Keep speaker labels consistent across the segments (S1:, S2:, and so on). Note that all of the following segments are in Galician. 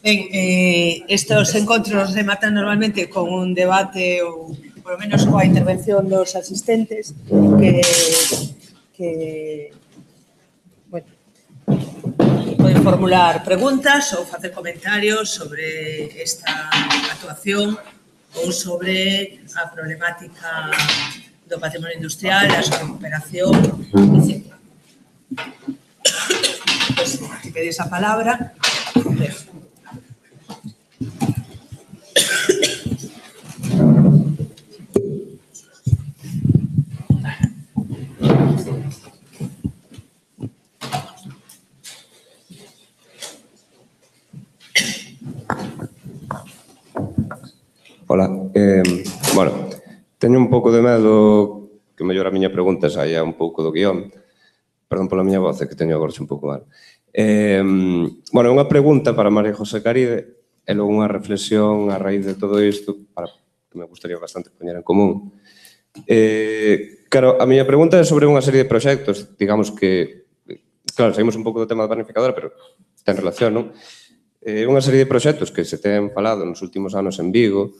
S1: Ben, estes encontros rematan normalmente con un debate ou, polo menos, coa intervención dos asistentes que bueno, poden formular preguntas ou facer comentarios sobre esta actuación ou sobre a problemática do patrimonio industrial, a súa recuperación, etc. Pues, si pedís a palabra,
S2: Ola, bueno, teño un pouco de medo que mellor a miña pregunta saia un pouco do guión. Perdón pola miña voz, que teño agora un pouco mal. Bueno, unha pregunta para María José Caride e logo unha reflexión a raíz de todo isto que me gustaría bastante poñer en común. Claro, a miña pregunta é sobre unha serie de proxectos, digamos que, claro, saímos un pouco do tema da planificadora, pero ten relación, non? Unha serie de proxectos que se ten falado nos últimos anos en Vigo,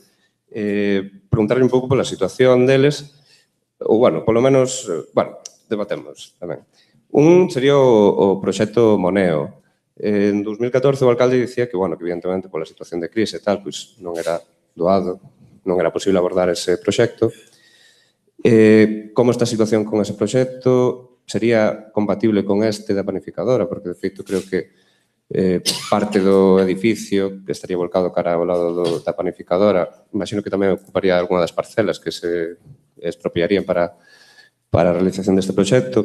S2: preguntarle un pouco pola situación deles, ou, bueno, polo menos, bueno, debatemos tamén. Un sería o proxecto Moneo. En 2014 o alcalde dicía que, bueno, que evidentemente pola situación de crise e tal, pois non era doado, non era posible abordar ese proxecto. Como está a situación con ese proxecto? Sería compatible con este da panificadora? Porque, de feito, creo que parte do edificio que estaría volcado cara ao lado da panificadora, imagino que tamén ocuparía algunha das parcelas que se expropiarían para a realización deste proxecto.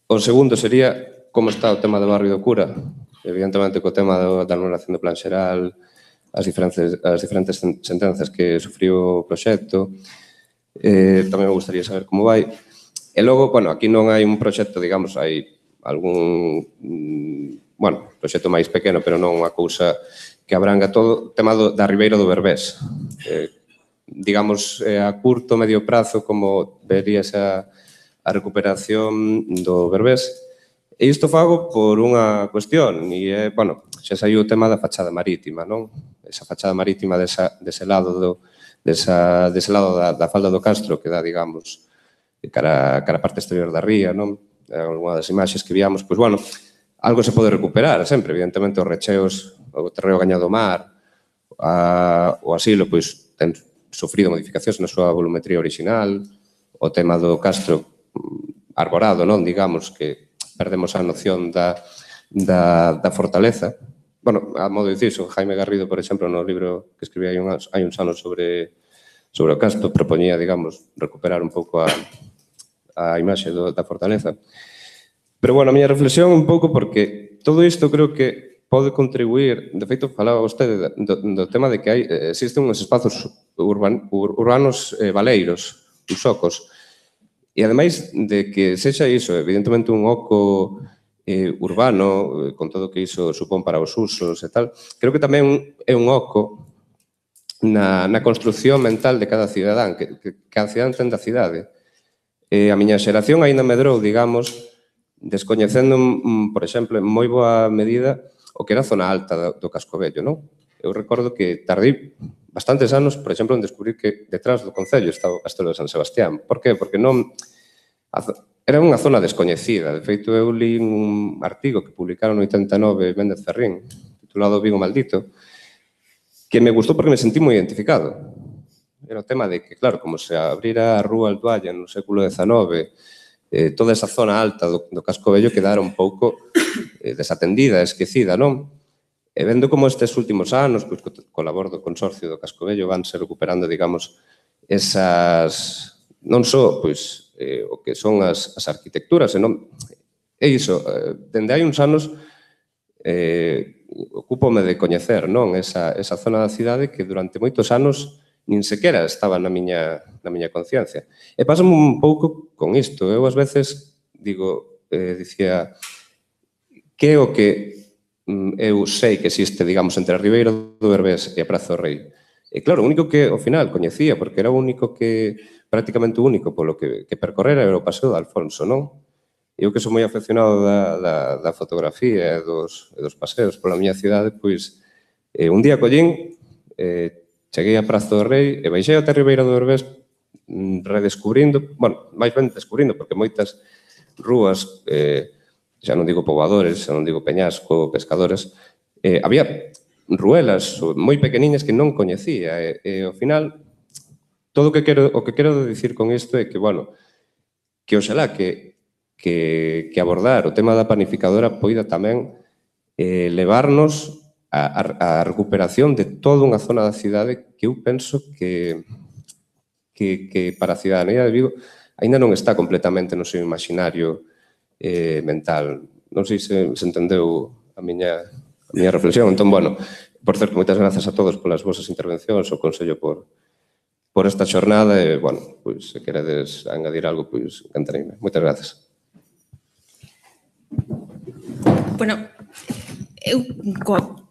S2: O segundo sería como está o tema do barrio do Cura, evidentemente co tema da anulación do plan xeral, as diferentes sentenzas que sufriu o proxecto. Tamén me gustaría saber como vai. E logo, bueno, aquí non hai un proxecto, digamos, hai algún, bueno, proxecto máis pequeno, pero non unha cousa que abranga todo o tema da Ribeira do Berbés. Digamos, a curto, medio prazo, como veríase a recuperación do Berbés. E isto fago por unha cuestión, e é, bueno, xa saiu o tema da fachada marítima, non? Esa fachada marítima dese lado da falda do Castro que dá, digamos, cara a parte exterior da ría, non? Alguna das imaxes que víamos, pois, bueno, algo se pode recuperar sempre, evidentemente os recheos, o terreo gañado ao mar, o asilo, pois, ten sofrido modificacións na súa volumetría original, o tema do Castro arborado, non, digamos, que perdemos a noción da fortaleza. Bueno, a modo de dicir, Jaime Garrido, por exemplo, no libro que escribí hai uns anos sobre o Castro, propoñía, digamos, recuperar un pouco a imaxe da fortaleza. Pero, bueno, a miña reflexión un pouco porque todo isto creo que pode contribuir, de feito, falaba vostede do tema de que existen uns espazos urbanos baleiros, usocos, e ademais de que sexa iso, evidentemente, un oco urbano, con todo o que iso supón para os usos e tal, creo que tamén é un oco na construcción mental de cada cidadán, que cada cidadán ten da cidade. A miña xeración aínda medrou, digamos, descoñecendo, por exemplo, en moi boa medida o que era a zona alta do Casco Vello, non? Eu recordo que tardei bastantes anos, por exemplo, en descubrir que detrás do Concello estaba o Castelo de San Sebastián. Por qué? Porque non... Era unha zona descoñecida. De feito, eu li un artigo que publicaron no 89 Méndez Ferrín, titulado Vigo Maldito, que me gustou porque me sentí moi identificado. Era o tema de que, claro, como se abrira a Rúa Altoalla no século XIX, toda esa zona alta do Casco Vello quedara un pouco desatendida, esquecida, non? E vendo como estes últimos anos, pois, co labor do Consorcio do Casco Vello, vanse recuperando, digamos, esas... non só, pois, o que son as arquitecturas, senón... É iso, dende hai uns anos ocúpome de coñecer, non? Esa zona da cidade que durante moitos anos nin sequera estaba na miña conciencia. E pásame un pouco con isto. Eu, ás veces, dicía, que é o que eu sei que existe, digamos, entre a Ribeira do Berbés e a Praza do Rei? E, claro, o único que, ao final, coñecía, porque era o único que, prácticamente o único polo que percorrera era o Paseo de Alfonso, non? Eu que sou moi afeccionado da fotografía e dos paseos pola miña cidade, pois, Un día collín, cheguei a Praza do Rei e baixei ata Ribeira do Berbés redescubrindo, bueno, máis ben descubrindo, porque moitas rúas, xa non digo poboadores, xa non digo peñasco, pescadores, había ruelas moi pequeniñas que non coñecía e ao final todo o que quero dicir con isto é que, bueno, que oxalá que abordar o tema da panificadora poida tamén levarnos a recuperación de toda unha zona da cidade que eu penso que para a cidadanía de Vigo aínda non está completamente no seu imaginario mental. Non sei se entendeu a miña reflexión. Entón, bueno, por certo, moitas grazas a todos polas vosas intervencións, o Consello por esta xornada e, bueno, pois, se queredes engadir algo, pois, encantareime. Moitas grazas.
S3: Bueno, eu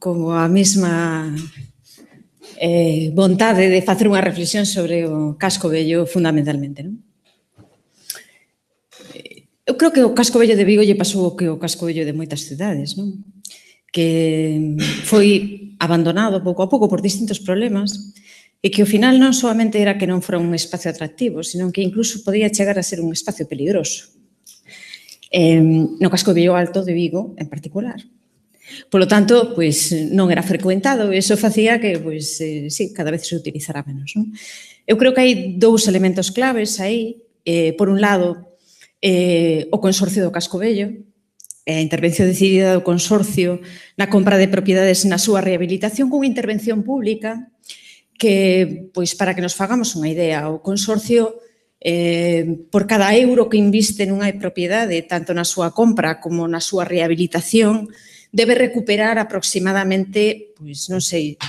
S3: coa mesma vontade de facer unha reflexión sobre o casco vello fundamentalmente, non? Eu creo que o casco vello de Vigo lle pasou o que o casco vello de moitas cidades, non? Que foi abandonado pouco a pouco por distintos problemas e que ao final non solamente era que non fora un espacio atractivo, sino que incluso podía chegar a ser un espacio peligroso. No casco vello alto de Vigo en particular. Polo tanto, pois, non era frecuentado e iso facía que, pois, sí, cada vez se utilizara menos, non? Eu creo que hai dous elementos claves aí. Por un lado, o Consorcio do Casco Vello, a intervención decidida do Consorcio na compra de propiedades na súa rehabilitación cunha intervención pública que, pois, para que nos fagamos unha idea, o Consorcio, por cada euro que inviste nunha propiedade, tanto na súa compra como na súa rehabilitación, debe recuperar aproximadamente, pois, non sei,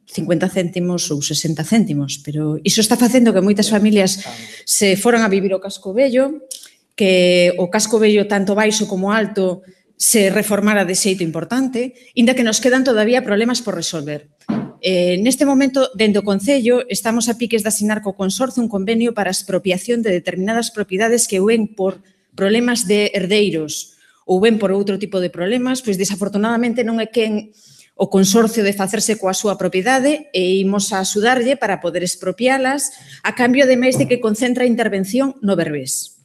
S3: 50 céntimos ou 60 céntimos, pero iso está facendo que moitas familias se foran a vivir ao casco vello, que o casco vello tanto baixo como alto se reformara de xeito importante, inda que nos quedan todavía problemas por resolver. Neste momento, dentro do Concello, estamos a piques de asinar co Consorcio un convenio para a expropiación de determinadas propiedades que ven por problemas de herdeiros ou ben por outro tipo de problemas, pois desafortunadamente non é quen o Consorcio de facerse coa súa propiedade e imos a axudarlle para poder expropialas a cambio de máis de que concentra a intervención no Berbés.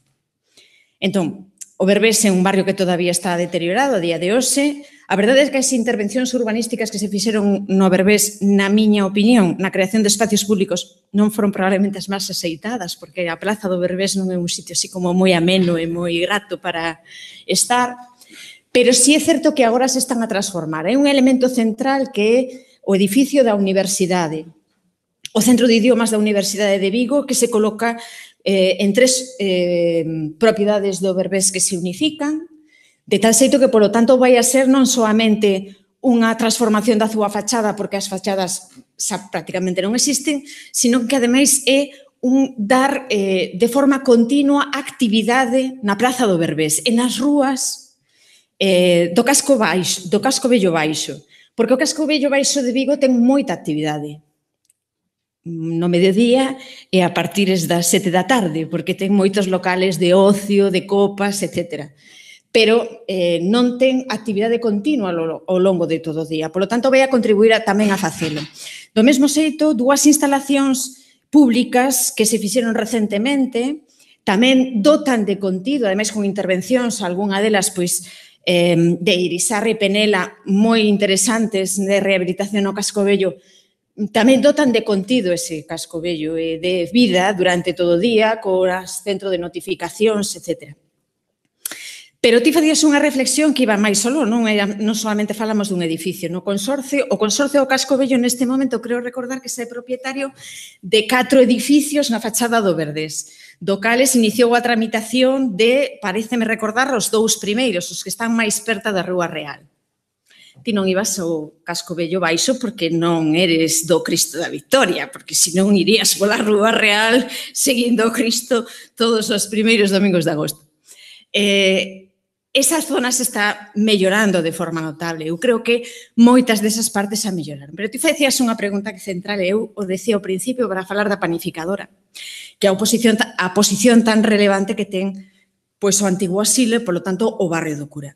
S3: Entón, o Berbés é un barrio que todavía está deteriorado a día de hoxe. A verdade é que as intervencións urbanísticas que se fixeron no Berbés, na miña opinión, na creación de espacios públicos, non foron probablemente as máis axeitadas, porque a Praza do Berbés non é un sitio así como moi ameno e moi grato para estar, pero sí é certo que agora se están a transformar. Hai un elemento central que é o edificio da Universidade, o Centro de Idiomas da Universidade de Vigo, que se coloca en tres propiedades do Berbés que se unifican, de tal xeito que, polo tanto, vai a ser non soamente unha transformación da súa fachada, porque as fachadas xa prácticamente non existen, sino que, ademais, é un dar de forma continua actividade na Praza do Berbés e nas rúas do casco vello baixo, porque o casco vello baixo de Vigo ten moita actividade no mediodía e a partir das 7 da tarde, porque ten moitos locales de ocio, de copas, etc. Pero non ten actividade continua ao longo de todo o día. Por lo tanto, vai a contribuir tamén a facelo. Do mesmo xeito, dúas instalacións públicas que se fixeron recentemente tamén dotan de contido, ademais con intervencións, algunha delas, pois, de Irisarri e Penela, moi interesantes de rehabilitación ao casco vello, tamén dotan de contido ese casco vello e de vida durante todo o día, co centro de notificacións, etc. Pero ti facías unha reflexión que iba máis solo, non solamente falamos dun edificio. No Consorcio, o Consorcio do Casco Vello neste momento creo recordar que é propietario de 4 edificios na fachada do Berbés, do cales iniciou a tramitación de, pareceme recordar, os 2 primeiros, os que están máis perto da Rúa Real. Ti non ibas ao casco vello baixo porque non eres do Cristo da Victoria, porque senón irías pola Rúa Real seguindo o Cristo todos os primeiros domingos de agosto. Esas zonas está mellorando de forma notable. Eu creo que moitas desas partes a melloraron. Pero ti facías unha pregunta que central, eu o decía ao principio para falar da panificadora, que a posición tan relevante que ten pois o antigo asilo e, polo tanto, o barrio do Cura.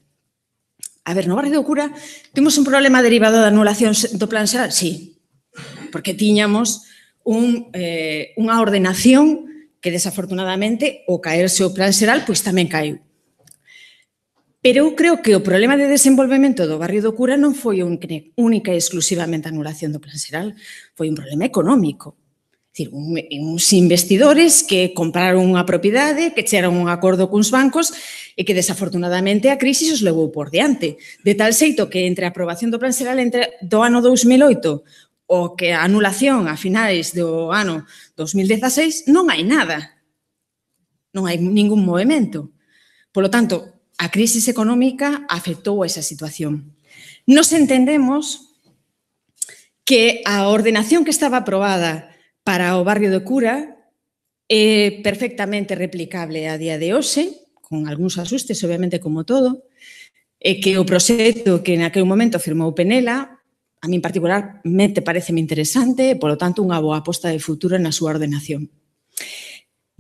S3: A ver, no barrio do Cura temos un problema derivado da anulación do plan xeral? Sí, porque tiñamos unha ordenación que desafortunadamente o caerse o plan xeral pois tamén caiu. Pero eu creo que o problema de desenvolvemento do barrio do Cura non foi única e exclusivamente a anulación do plan xeral, foi un problema económico. É dicir, uns investidores que compraron unha propiedade, que chegaron a un acordo cuns bancos e que desafortunadamente a crise os levou por diante. De tal xeito que entre a aprobación do plan xeral do ano 2008 o que a anulación a finais do ano 2016 non hai nada. Non hai ningún movimento. Polo tanto, a crise económica afectou a esa situación. Nos entendemos que a ordenación que estaba aprobada para o barrio do Cura é perfectamente replicable a día de hoxe, con algúns asustes, obviamente, como todo, e que o proxecto que naquele momento firmou Penela, a min particularmente pareceme interesante e, polo tanto, unha boa aposta de futuro na súa ordenación.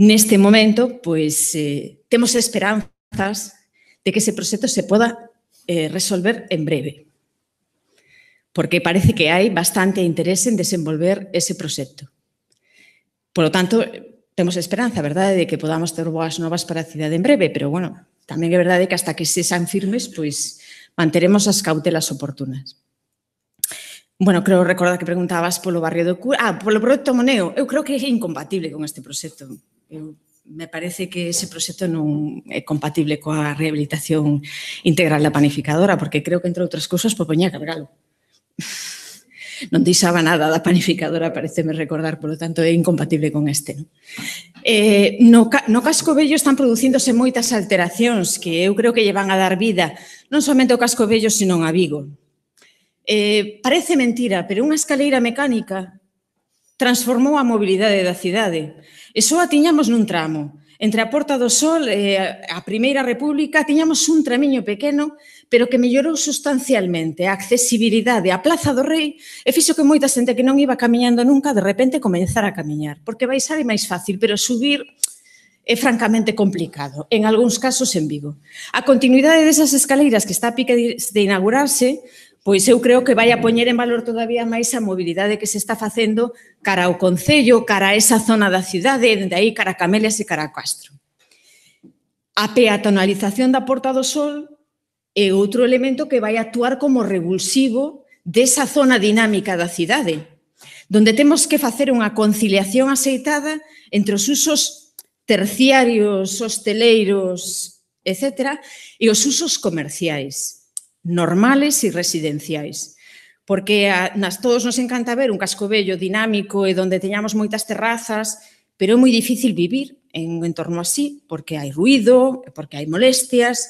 S3: Neste momento, pois, temos esperanzas de que ese proxecto se poda resolver en breve, porque parece que hai bastante interese en desenvolver ese proxecto. Polo tanto, temos esperanza, verdade, de que podamos ter boas novas para a cidade en breve, pero, bueno, tamén é verdade que hasta que se sean firmes, pois, manteremos as cautelas oportunas. Bueno, creo recordar que preguntabas polo barrio do Cura. Polo proxecto Moneo. Eu creo que é incompatible con este proxecto. Me parece que ese proxecto non é compatible coa rehabilitación integral da panificadora, porque creo que, entre outras cousas, poñía que haber algo. Non deixaba nada da panificadora, pareceme recordar, polo tanto, é incompatible con este. No casco vello están producíndose moitas alteracións que eu creo que lle van a dar vida non somente ao casco vello, sino a Vigo. Parece mentira, pero unha escaleira mecánica transformou a mobilidade da cidade. E só a tiñamos nun tramo. Entre a Porta do Sol e a Primeira República tiñamos un tramiño pequeno, pero que mellorou sustancialmente a accesibilidade á Plaza do Rei e fixo que moita xente que non iba camiñando nunca de repente comenzara a camiñar. Porque baixar é máis fácil, pero subir é francamente complicado, en algúns casos en Vigo. A continuidade desas escaleiras que está a pique de inaugurarse, pois eu creo que vai a poñer en valor todavía máis a mobilidade que se está facendo cara ao Concello, cara a esa zona da cidade, dende aí cara a Camelias e cara a Castro. A peatonalización da Porta do Sol é outro elemento que vai actuar como revulsivo desa zona dinámica da cidade, donde temos que facer unha conciliación axeitada entre os usos terciarios, hosteleiros, etc., e os usos comerciais, normales e residenciais. Porque todos nos encanta ver un casco vello dinámico e onde teñamos moitas terrazas, pero é moi difícil vivir en un entorno así, porque hai ruído, porque hai molestias.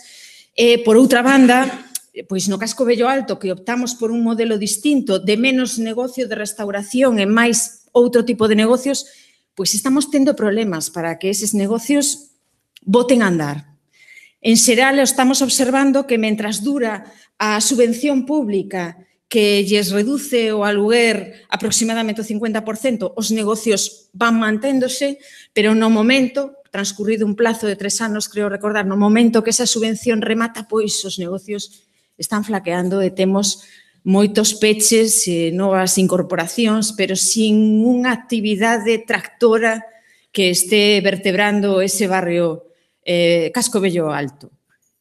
S3: E, por outra banda, pois no casco vello alto, que optamos por un modelo distinto de menos negocio de restauración e máis outro tipo de negocios, pois estamos tendo problemas para que eses negocios boten a andar. En xeral, estamos observando que mentras dura a subvención pública que lles reduce o aluguer aproximadamente o 50%, os negocios van manténdose, pero no momento, transcurrido un plazo de 3 anos, creo recordar, no momento que esa subvención remata, pois os negocios están flaqueando e temos moitos peches, novas incorporacións, pero sin unha actividade tractora que este vertebrando ese barrio Casco Vello Alto.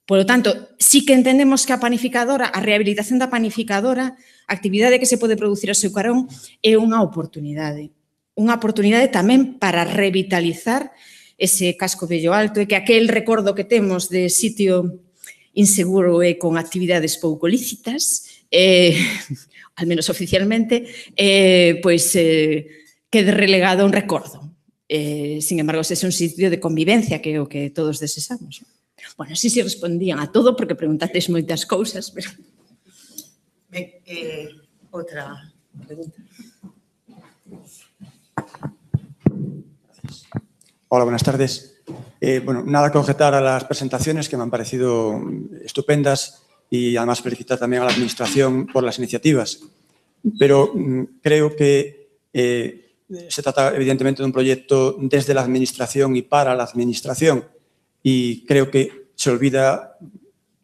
S3: Por lo tanto, sí que entendemos que a panificadora, a rehabilitación da panificadora, a actividade que se pode producir ao seu carón, é unha oportunidade. Unha oportunidade tamén para revitalizar ese Casco Vello Alto e que aquel recordo que temos de sitio inseguro e con actividades pouco lícitas, al menos oficialmente, pois quede relegado a un recordo. Sin embargo, ese é un sitio de convivencia que é o que todos desexamos. Bueno, sí respondían a todo porque preguntasteis moitas cousas, pero...
S1: Ben, outra pregunta.
S4: Hola, buenas tardes. Bueno, nada que objetar a las presentaciones que me han parecido estupendas y además felicitar también a la Administración por las iniciativas. Pero creo que se trata evidentemente de un proyecto desde la Administración y para la Administración y creo que se olvida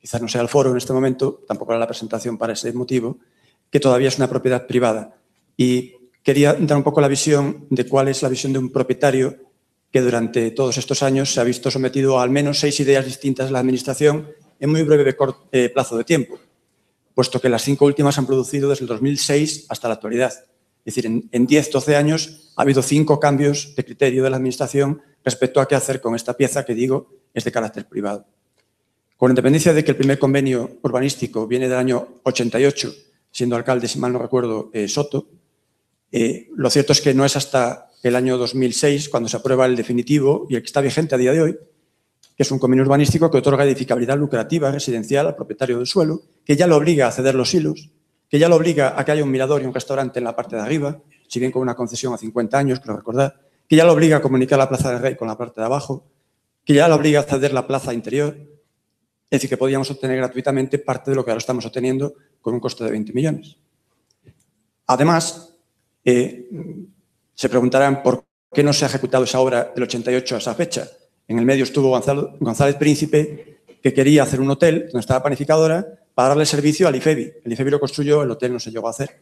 S4: quizás no sea el foro en este momento, tampoco era la presentación para ese motivo, que todavía es una propiedad privada. Y quería dar un poco la visión de cuál es la visión de un propietario que durante todos estos años se ha visto sometido a al menos 6 ideas distintas de la Administración en muy breve plazo de tiempo, puesto que las 5 últimas han producido desde el 2006 hasta la actualidad. Es decir, en 10-12 años ha habido 5 cambios de criterio de la Administración respecto a qué hacer con esta pieza que, digo, es de carácter privado. Con independencia de que el primer convenio urbanístico viene del año 88, siendo alcalde, si mal no recuerdo, Soto, lo cierto es que no es hasta el año 2006 cuando se aprueba el definitivo y el que está vigente a día de hoy, que es un convenio urbanístico que otorga edificabilidad lucrativa residencial al propietario del suelo, que ya lo obliga a ceder los hilos, que ya lo obliga a que haya un mirador y un restaurante en la parte de arriba, si bien con una concesión a 50 años, creo recordar, que ya lo obliga a comunicar la Plaza del Rey con la parte de abajo, que ya lo obliga a ceder la plaza interior, es decir, que podíamos obtener gratuitamente parte de lo que ahora estamos obteniendo con un coste de 20 millones. Además, se preguntarán por qué no se ha ejecutado esa obra del 88 a esa fecha. En el medio estuvo González Príncipe, que quería hacer un hotel donde estaba panificadora para darle servicio al IFEBI. El IFEBI lo construyó, el hotel no se llegó a hacer.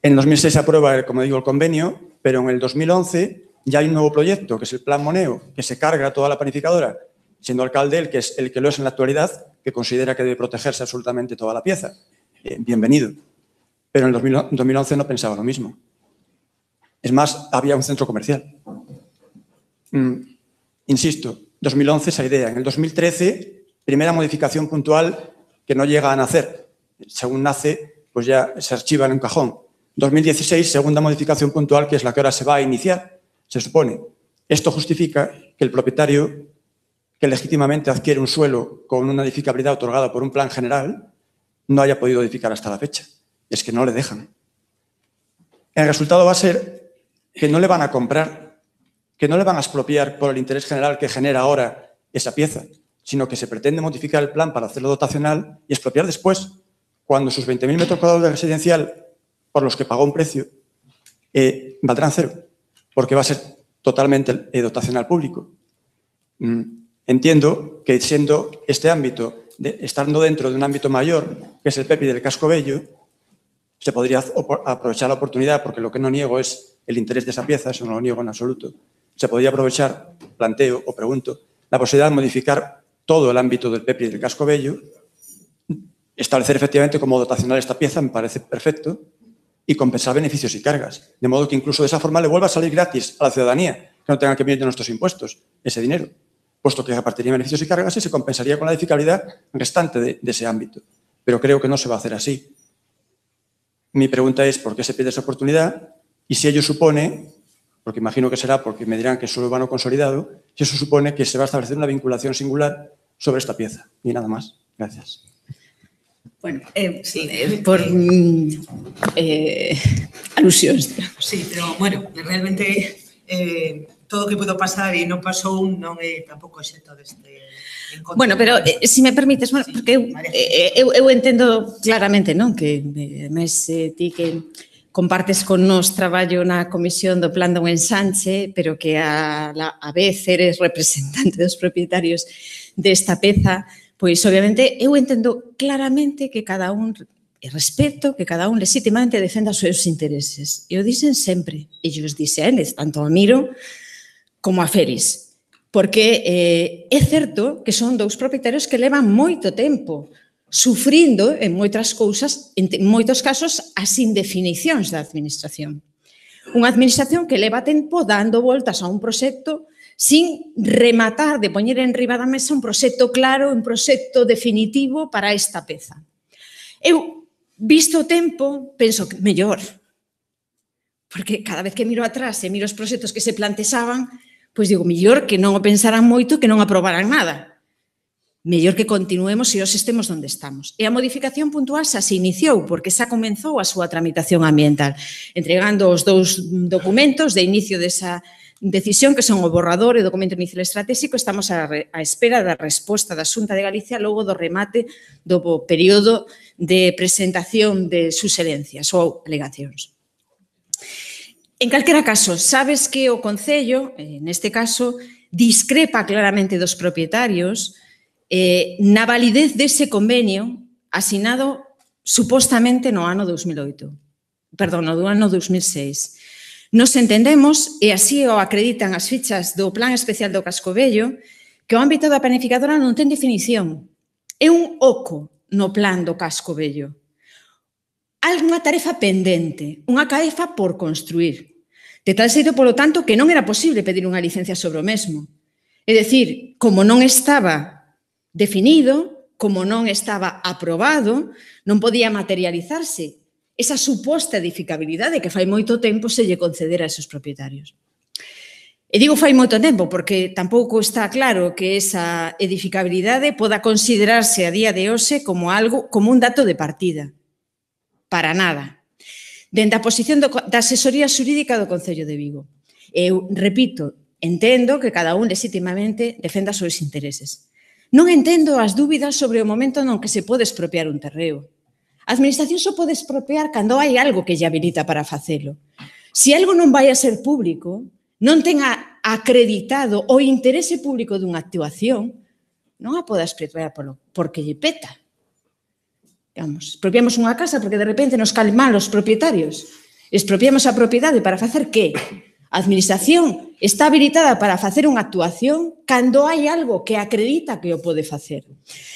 S4: En 2006 se aprueba, como digo, el convenio, pero en el 2011 ya hay un nuevo proyecto, que es el Plan Moneo, que se carga toda la panificadora, siendo alcalde el que lo es en la actualidad, que considera que debe protegerse absolutamente toda la pieza. Bienvenido. Pero en el 2011 no pensaba lo mismo. Es más, había un centro comercial. Insisto, 2011 esa idea. En el 2013, primera modificación puntual que no llega a nacer. Según nace, pues ya se archiva en un cajón. 2016, segunda modificación puntual, que es la que ahora se va a iniciar, se supone. Esto justifica que el propietario que legítimamente adquiere un suelo con una edificabilidad otorgada por un plan general no haya podido edificar hasta la fecha. Es que no le dejan. El resultado va a ser que no le van a comprar, que no le van a expropiar por el interés general que genera ahora esa pieza, sino que se pretende modificar el plan para hacerlo dotacional y expropiar después, cuando sus 20.000 metros cuadrados de residencial, por los que pagó un precio, valdrán cero, porque va a ser totalmente dotacional público. Entiendo que siendo este ámbito, estando dentro de un ámbito mayor, que es el PEPI del Casco Bello, se podría aprovechar la oportunidad, porque lo que no niego es el interés de esa pieza, eso no lo niego en absoluto. Se podría aprovechar, planteo o pregunto, la posibilidad de modificar todo el ámbito del PEPI del Casco Bello, establecer efectivamente como dotacional esta pieza, me parece perfecto, y compensar beneficios y cargas. De modo que incluso de esa forma le vuelva a salir gratis a la ciudadanía, que no tenga que venir de nuestros impuestos ese dinero, puesto que repartiría beneficios y cargas y se compensaría con la edificabilidad restante de ese ámbito. Pero creo que no se va a hacer así. Mi pregunta es por qué se pierde esa oportunidad y si ello supone, porque imagino que será porque me dirán que es suelo urbano consolidado, si eso supone que se va a establecer una vinculación singular sobre esta pieza. Y nada más. Gracias.
S3: Bueno, por alusións.
S1: Sí, pero, bueno, realmente todo o que pudo pasar e non pasou non é tampouco exento deste encontro.
S3: Bueno, pero se me permites, bueno, porque eu entendo claramente, non, que mes ti que compartes con nos traballo na comisión do plan dun ensanche, pero que a vez eres representante dos propietarios desta peza, pois obviamente eu entendo claramente que cada un respeto que cada un legítimamente defenda os seus intereses. E o dicen sempre, e eu os dixe a eles, tanto a Miro como a Feris, porque é certo que son dous propietarios que levan moito tempo sufrindo en moitas cousas, en moitos casos, as indefinicións da administración. Unha administración que leva tempo dando voltas a un proxecto sin rematar de poñer en riba da mesa un proxecto claro, un proxecto definitivo para esta peza. Eu, visto o tempo, penso que mellor, porque cada vez que miro atrás e miro os proxectos que se planteaban, pois digo, mellor que non o pensaran moito e que non aprobaran nada. Mellor que continuemos e os estemos onde estamos. E a modificación puntual xa se iniciou, porque xa comenzou a súa tramitación ambiental, entregando os dous documentos de inicio desa decisión, que son o borrador e o documento inicial estratégico. Estamos á espera da resposta da Xunta de Galicia logo do remate do período de presentación de suxerencias ou alegacións. En calquera caso, sabes que o Concello, neste caso, discrepa claramente dos propietarios na validez dese convenio asinado supostamente no ano 2008. Perdón, no ano 2006. Nos entendemos, e así o acreditan as fichas do Plan Especial do Casco Vello, que o ámbito da planificadora non ten definición. É un oco no plan do Casco Vello. Hai unha tarefa pendente, unha tarefa por construir. De tal xeito, polo tanto, que non era posible pedir unha licencia sobre o mesmo. É dicir, como non estaba definido, como non estaba aprobado, non podía materializarse esa suposta edificabilidade que fai moito tempo se lle concedera a esos propietarios. E digo fai moito tempo porque tampouco está claro que esa edificabilidade poda considerarse a día de hoxe como un dato de partida. Para nada. Dende a posición da asesoría xurídica do Concello de Vigo. Eu, repito, entendo que cada un legitimamente defenda os seus intereses. Non entendo as dúbidas sobre o momento non que se pode expropiar un terreo. A administración só pode expropiar cando hai algo que lle habilita para facelo. Se algo non vai a ser público, non ten acreditado o interese público dunha actuación, non a pode expropiar porque lle peta. Digamos, expropiamos unha casa porque de repente nos caen mal os propietarios. Expropiamos a propiedade para facer que? A administración está habilitada para facer unha actuación cando hai algo que acredita que o pode facer.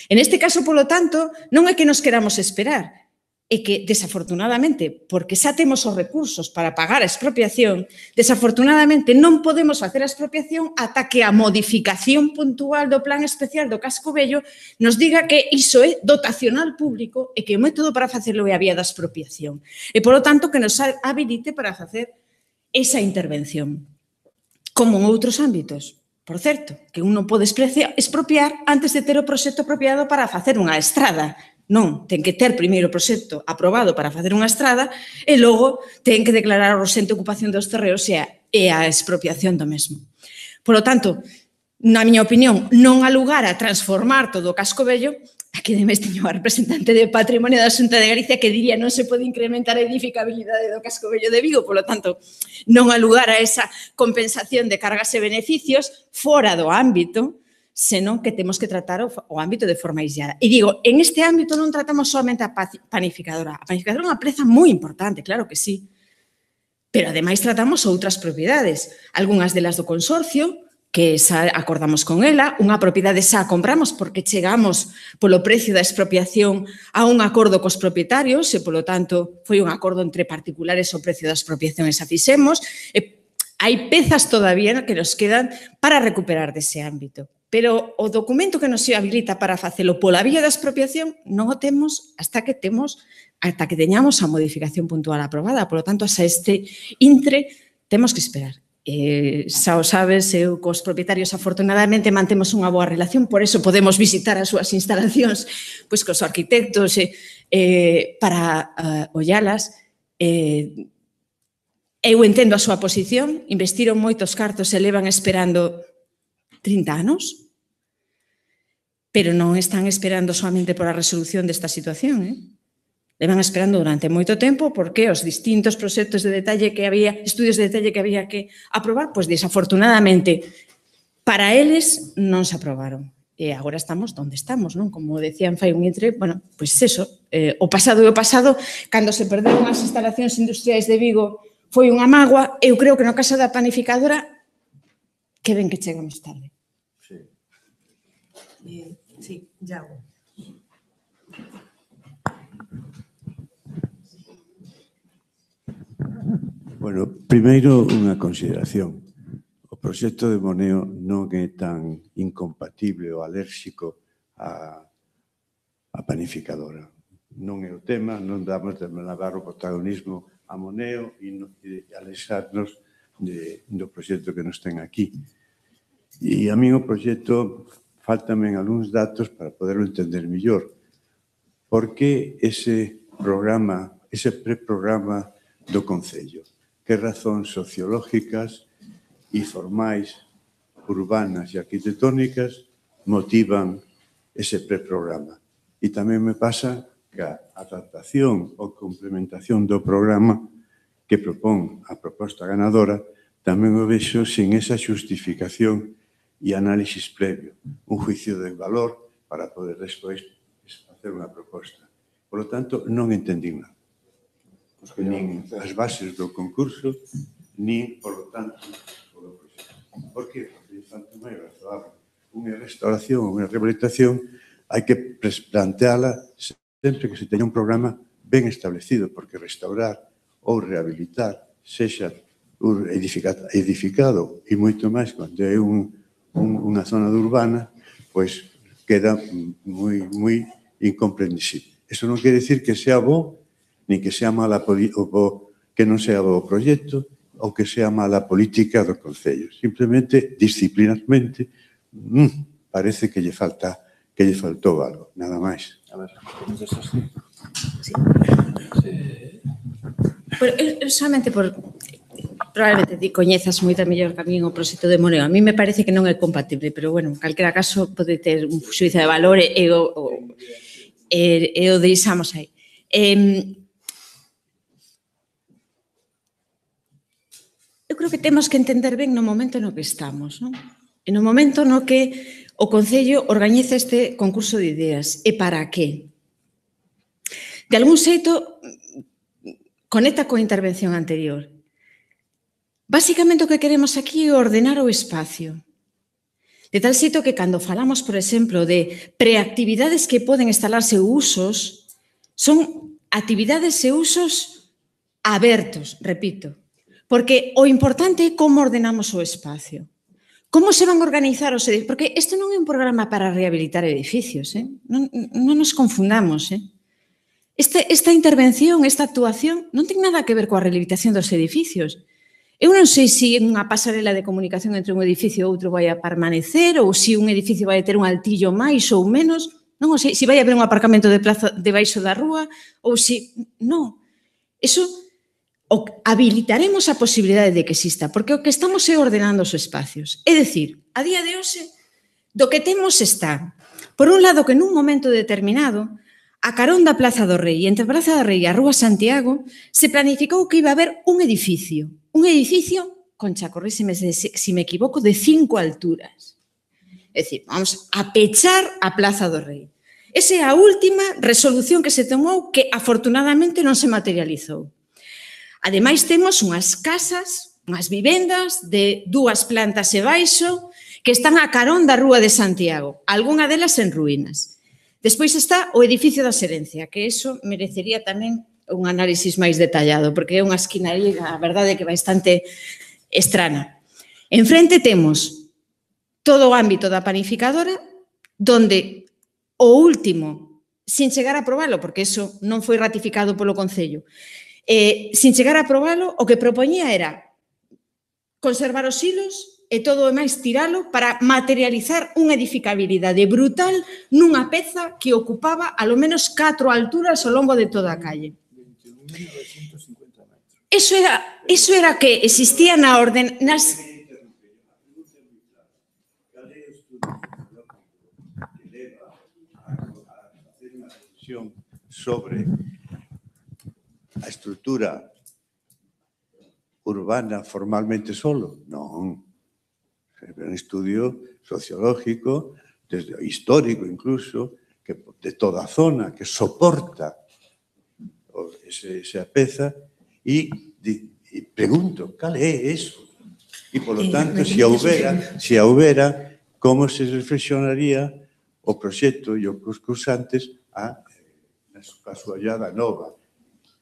S3: En este caso, polo tanto, non é que nos queramos esperar, é que, desafortunadamente, porque xa temos os recursos para pagar a expropiación, desafortunadamente non podemos facer a expropiación ata que a modificación puntual do Plan Especial do Casco Vello nos diga que iso é dotacional público e que o método para facelo é a vía da expropiación. E, polo tanto, que nos habilite para facer esa intervención. Como en outros ámbitos. Por certo, que un non pode expropiar antes de ter o proxecto apropiado para facer unha estrada. Non, ten que ter primeiro o proxecto aprobado para facer unha estrada e logo ten que declarar o urxente ocupación dos terreos e a expropiación do mesmo. Por lo tanto, na miña opinión, non há lugar a transformar todo o Casco Vello. Aquí ademais teño a representante de Patrimonio da Xunta de Galicia que diría non se pode incrementar a edificabilidade do Casco Vello de Vigo, polo tanto, non há lugar a esa compensación de cargas e beneficios fora do ámbito, senón que temos que tratar o ámbito de forma aislada. E digo, en este ámbito non tratamos solamente a planificadora. A planificadora é unha preza moi importante, claro que sí, pero ademais tratamos outras propiedades, algunhas delas do consorcio, que xa acordamos con ela, unha propiedade xa compramos porque chegamos polo precio da expropiación a un acordo cos propietarios e, polo tanto, foi un acordo entre particulares o precio da expropiación e xa fixemos. Hai pezas todavía que nos quedan para recuperar dese ámbito. Pero o documento que nos habilita para facelo pola vía da expropiación non o temos hasta que teñamos a modificación puntual aprobada. Por lo tanto, hasta este intre temos que esperar. Xa o sabes, eu cos propietarios afortunadamente mantemos unha boa relación, por eso podemos visitar as súas instalacións pois cos arquitectos para ollalas. Eu entendo a súa posición, investiron moitos cartos e levan esperando 30 anos, pero non están esperando solamente por a resolución desta situación, levan esperando durante moito tempo porque os distintos proxectos de detalle que había, estudios de detalle que había que aprobar, pois desafortunadamente para eles non se aprobaron. E agora estamos onde estamos, non? Como decían fai un intre, bueno, pois eso, o pasado é o pasado, cando se perderon as instalacións industriais de Vigo foi unha mágoa, eu creo que no caso da planificadora que ben que chegamos tarde.
S1: Sí, Iago.
S5: Bueno, primeiro unha consideración. O proxecto de Moneo non é tan incompatible ou alérxico á planificadora. Non é o tema, non damos de lavar o protagonismo a Moneo e alexarnos do proxecto que nos ten aquí. E a mí o proxecto faltamen algúns datos para poderlo entender mellor. Por que ese programa, ese preprograma do Concello? Que razóns sociológicas e formais, urbanas e arquitectónicas motivan ese preprograma? E tamén me pasa que a adaptación ou complementación do programa que propón a proposta ganadora tamén o vexo sin esa xustificación e análisis previo, un juicio de valor para poder despois facer unha proposta. Por lo tanto, non entendín nada. Nin as bases do concurso, nin, por lo tanto, o proxecto. Por que? Porque tanto máis razoable. Unha restauración, unha rehabilitación, hai que planteala sempre que se teña un programa ben establecido, porque restaurar ou rehabilitar, sexa edificado e moito máis cando é unha zona urbana, pois queda moi incomprensible. Eso non quere dicir que sea bo, ni que sea mala que non sea bo o proxecto, ou que sea mala política do Concello. Simplemente, disciplinarmente, parece que lle faltou algo, nada máis.
S2: A ver,
S3: Solamente probablemente ti coñezas moita mellor que a min o proxecto de Moneo. A mí me parece que non é compatible, pero, bueno, en calquera caso pode ter un xuízo de valor e o deixamos aí. Eu creo que temos que entender ben no momento no que estamos, non? E no momento no que o Concello organiza este concurso de ideas. E para que? De algún xeito, conecta coa intervención anterior. Básicamente o que queremos aquí é ordenar o espacio. De tal xeito que cando falamos, por exemplo, de preactividades que poden instalarse usos, son actividades e usos abertos, repito. Porque o importante é como ordenamos o espacio. Como se van a organizar os edificios? Porque isto non é un programa para rehabilitar edificios, non nos confundamos. Esta intervención, esta actuación, non ten nada que ver coa rehabilitación dos edificios. Eu non sei se unha pasarela de comunicación entre un edificio e outro vai a permanecer ou se un edificio vai ter un altillo máis ou menos, non o sei, se vai haber un aparcamento de plaza debaixo da rúa ou se... Non. Eso habilitaremos a posibilidade de que exista, porque o que estamos é ordenando os espacios. É dicir, a día de hoxe, do que temos está, por un lado, que nun momento determinado, a carón da Plaza do Rei, entre a Plaza do Rei e a Rúa Santiago, se planificou que iba a haber un edificio, Concha, corríseme se me equivoco, de 5 alturas. É dicir, vamos a pechar a Plaza do Rei. Esa é a última resolución que se tomou que, afortunadamente, non se materializou. Ademais, temos unhas casas, unhas vivendas de 2 plantas e baixo que están a carón da Rúa de Santiago, algunha delas en ruínas. Despois está o edificio da Xerencia, que eso merecería tamén un análisis máis detallado, porque é unha esquinaría, a verdade, que bastante estrana. En frente temos todo o ámbito da panificadora, donde o último, sin chegar a aprobalo, porque eso non foi ratificado polo Concello, sin chegar a aprobalo, o que propoñía era conservar os hilos e todo o máis tiralo para materializar unha edificabilidade brutal nunha peza que ocupaba alo menos 4 alturas ao longo de toda a calle.
S6: 21.950 metros.
S3: Eso era que existía na orden...
S5: sobre a estrutura urbana formalmente solo? Non. É un estudio sociológico, desde histórico incluso, que de toda a zona, que soporta esa peza e pregunto, cal é eso? E, polo tanto, se a houbera, como se reflexionaría o proxecto e os concursantes a súa ollada nova.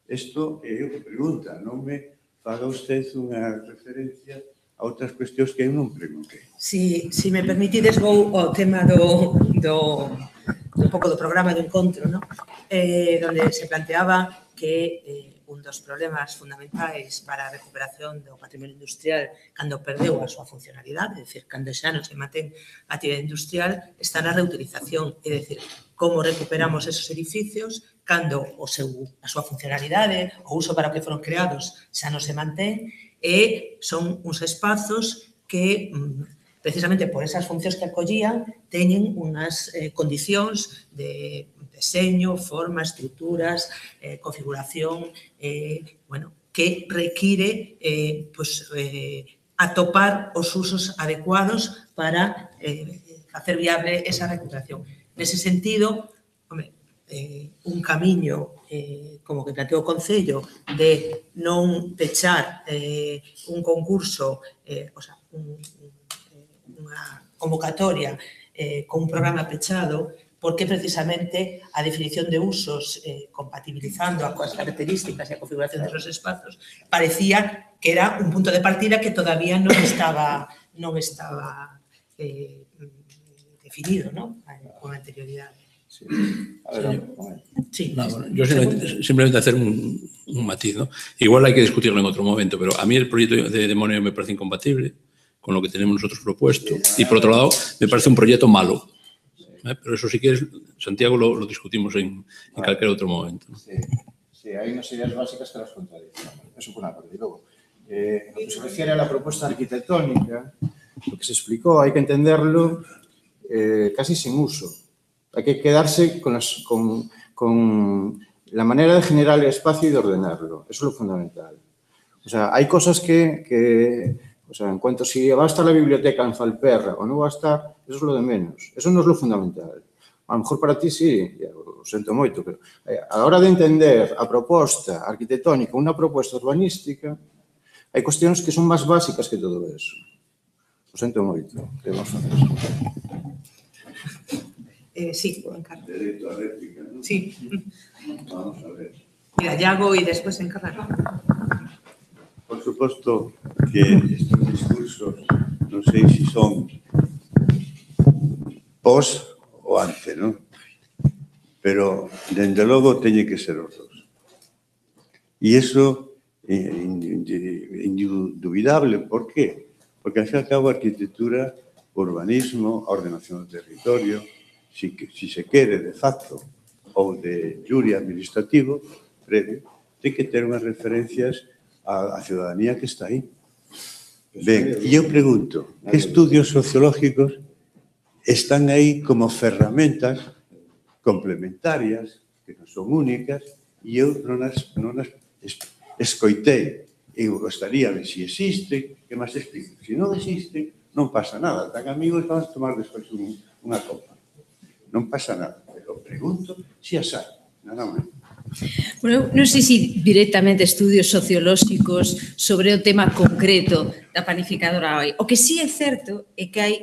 S5: Isto é o que pregunta, non me faga usted unha referencia a outras cuestións que eu non preguntei.
S1: Si me permitides, vou ao tema un pouco do programa do encontro, onde se planteaba que un dos problemas fundamentais para a recuperación do patrimonio industrial cando perdeu a súa funcionalidade, é dicir, cando xa non se mantén a actividade industrial, está na reutilización, é dicir, como recuperamos esos edificios cando a súa funcionalidade, o uso para o que foron creados xa non se mantén, e son uns espazos que, precisamente por esas funcións que acollían, teñen unhas condicións de deseño, forma, estruturas, configuración, que require atopar os usos adecuados para facer viable esa recuperación. Nese sentido, un camiño como que planteou o Concello de non pechar un concurso, unha convocatoria con un programa pechado, porque precisamente a definición de usos, compatibilizando as características e a configuración dos espazos, parecía que era un punto de partida que todavía non estaba definido, ¿no? Con anterioridade.
S7: Sí. A ver,
S1: sí.
S7: No, bueno, yo simplemente hacer un matiz, ¿no? Igual hay que discutirlo en otro momento, pero a mí el proyecto de Moneo me parece incompatible con lo que tenemos nosotros propuesto y, por otro lado, me parece un proyecto malo. Pero eso, si quieres, Santiago, lo discutimos en cualquier otro momento, ¿no?
S6: Sí, hay unas ideas básicas que las contradicen. Eso por una parte. Y luego, en lo que se refiere a la propuesta arquitectónica, lo que se explicó hay que entenderlo casi sin uso. Hay que quedarse con la manera de generar el espacio y de ordenarlo. Eso es lo fundamental. O sea, hay cosas que o sea, en cuanto si va a estar la biblioteca en Falperra o no va a estar, eso es lo de menos. Eso no es lo fundamental. A lo mejor para ti sí, lo siento moito, pero a la hora de entender a proposta arquitectónica, unha proposta urbanística, hai cuestións que son máis básicas que todo eso. Lo siento moito. Que vamos a facer eso?
S1: Sí, Encarna.
S5: Derecho a réplica, ¿no?
S1: Sí.
S5: Vamos a ver.
S1: Mira, Iago y después Encarna.
S5: Por suposto que estes discursos non sei se son pos ou ante, non? Pero, dende logo, teñe que ser os dos. E iso é indubidable. Por qué? Porque, ao fin e ao cabo, a arquitectura, o urbanismo, a ordenación do territorio, si se quere de facto ou de jure administrativo previo, ten que ter unhas referencias a ciudadanía que está aí. Ben, e eu pregunto, que estudios sociológicos están aí como ferramentas complementarias, que non son únicas, e eu non as escoitei. Eu gostaría de si existe, que máis explico. Se non existe, non pasa nada. Tan amigos, vamos a tomar despois unha copa. Non pasa nada, pero pregunto se as hai. Nada máis.
S3: Bueno, non sei se directamente estudios sociolóxicos sobre o tema concreto da panificadora hoy. O que sí é certo é que hai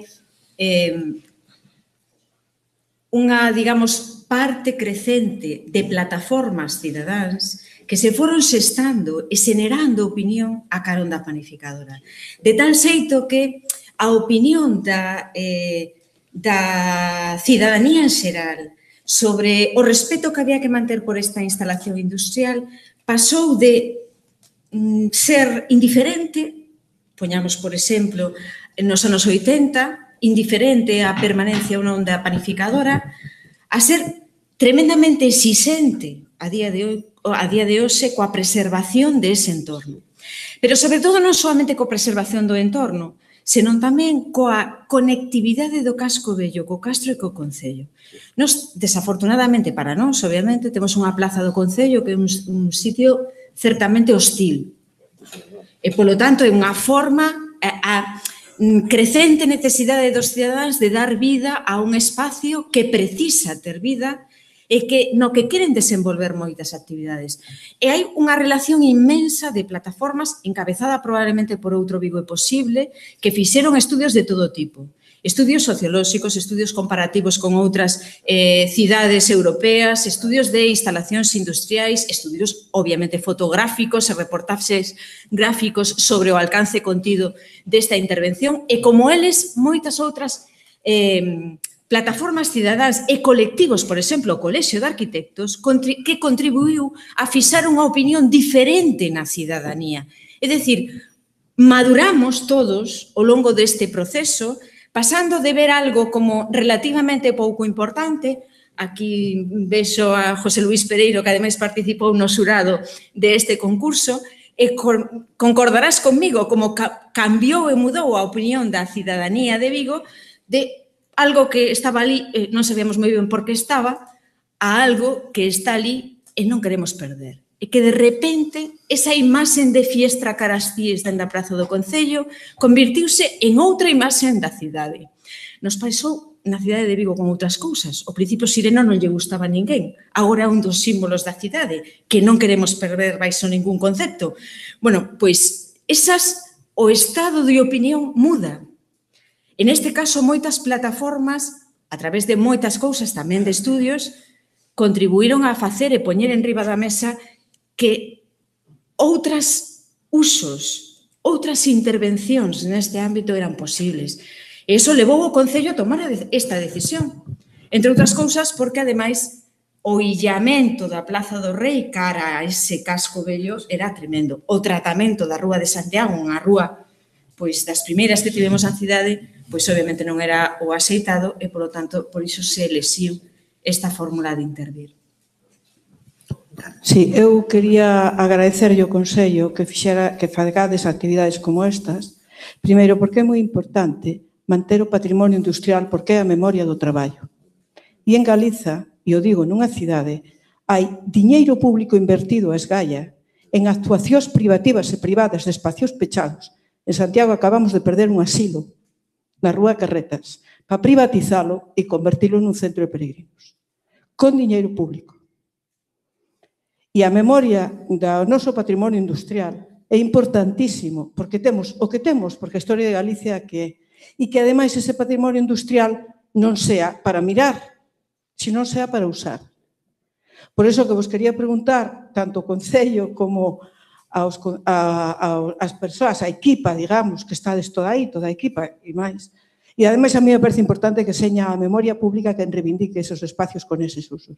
S3: unha, digamos, parte crecente de plataformas cidadáns que se foron xestando e xenerando opinión a carón da panificadora. De tal xeito que a opinión da cidadanía en xeral sobre o respeto que había que manter por esta instalación industrial pasou de ser indiferente, poñamos por exemplo, nos anos 80, indiferente á permanencia ou non da panificadora, a ser tremendamente exixente a día de hoxe coa preservación dese entorno. Pero, sobre todo, non solamente coa preservación do entorno, senón tamén coa conectividade do casco vello, co castro e co concello. Nos, desafortunadamente para nós, obviamente, temos unha plaza do concello que é un sitio certamente hostil. E, polo tanto, é unha forma a crecente necesidade dos cidadáns de dar vida a un espacio que precisa ter vida e que no que queren desenvolver moitas actividades. E hai unha relación inmensa de plataformas encabezada probablemente por outro Vigo é Posible que fixeron estudios de todo tipo. Estudios sociolóxicos, estudios comparativos con outras cidades europeas, estudios de instalacións industriais, estudios obviamente fotográficos e reportaxes gráficos sobre o alcance contido desta intervención e como eles moitas outras plataformas cidadáns e colectivos, por exemplo, o Colexio de Arquitectos, que contribuiu a fixar unha opinión diferente na cidadanía. É dicir, maduramos todos ao longo deste proceso, pasando de ver algo como relativamente pouco importante, aquí vexo a José Luís Pereiro, que ademais participou no xurado deste concurso, e concordarás conmigo como cambiou e mudou a opinión da cidadanía de Vigo de algo que estaba ali, non sabíamos moi ben por que estaba, a algo que está ali e non queremos perder. E que de repente esa imaxen de fiestra cara ás cíes dende a Praza do Concello convirtiuse en outra imaxen da cidade. Nos pasou na cidade de Vigo con outras cousas. Ao principio Sireno non lle gustaba a ninguén. Agora é un dos símbolos da cidade, que non queremos perder baixo ningún concepto. Bueno, pois, o estado de opinión muda. En este caso, moitas plataformas, a través de moitas cousas, tamén de estudios, contribuíron a facer e poñer en riba da mesa que outras usos, outras intervencións neste ámbito eran posibles. E iso levou o Concello a tomar esta decisión. Entre outras cousas, porque, ademais, o illamento da Plaza do Rei cara a ese casco vello era tremendo. O tratamento da Rúa de Santiago, unha rúa das primeiras que tivemos na cidade, obviamente non era o axeitado e, polo tanto, por iso se elexiu esta fórmula de intervir.
S8: Sí, eu quería agradecerlle ao Consello que fagades actividades como estas, primeiro porque é moi importante manter o patrimonio industrial porque é a memoria do traballo. E en Galiza, e o digo nunha cidade, hai diñeiro público invertido a esgalla en actuacións privativas e privadas de espacios pechados. En Santiago acabamos de perder un asilo na Rúa Carretas para privatizalo e convertilo nun centro de peregrinos, con diñeiro público. E a memoria do noso patrimonio industrial é importantísimo, porque temos o que temos, porque a historia de Galicia que é, e que, ademais, ese patrimonio industrial non sea para mirar, senón sea para usar. Por iso que vos quería preguntar, tanto ao Concello como as persoas, a equipa, digamos, que estades toda aí, toda a equipa e máis. E, ademais, a mí me parece importante que seña a memoria pública que reivindique esos espacios con eses usos.